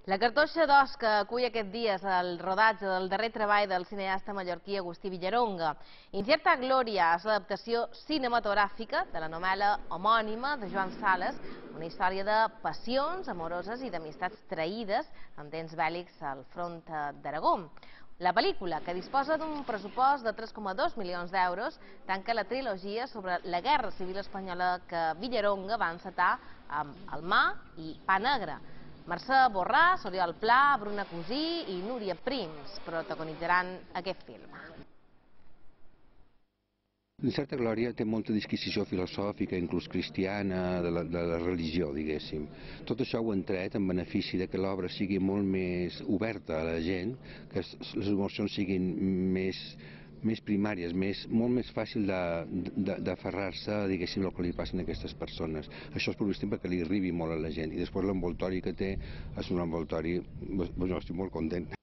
La cartoixa d'os que acull aquests dies el rodatge del darrer treball del cineasta mallorquí Agustí Villaronga. Incerta Glòria és l'adaptació cinematogràfica de la novel·la homònima de Joan Sales, una història de passions amoroses i d'amistats traïdes en temps bèl·lics al front d'Aragó. La pel·lícula, que disposa d'un pressupost de 3,2 milions d'euros, tanca la trilogia sobre la Guerra Civil Espanyola que Villaronga va encetar amb El mar i Pa negre. Mercè Borràs, Oriol Pla, Bruna Cusí i Núria Prims protagonitzaran aquest film. Incerta Glòria té molta disquisició filosòfica, inclús cristiana, de la religió, diguéssim. Tot això ho han tret en benefici de que l'obra sigui molt més oberta a la gent, que les emocions siguin més primàries, molt més fàcil d'aferrar-se, diguéssim, el que li passen a aquestes persones. Això és probablement perquè li arribi molt a la gent. I després l'envoltori que té és un envoltori... Jo estic molt content.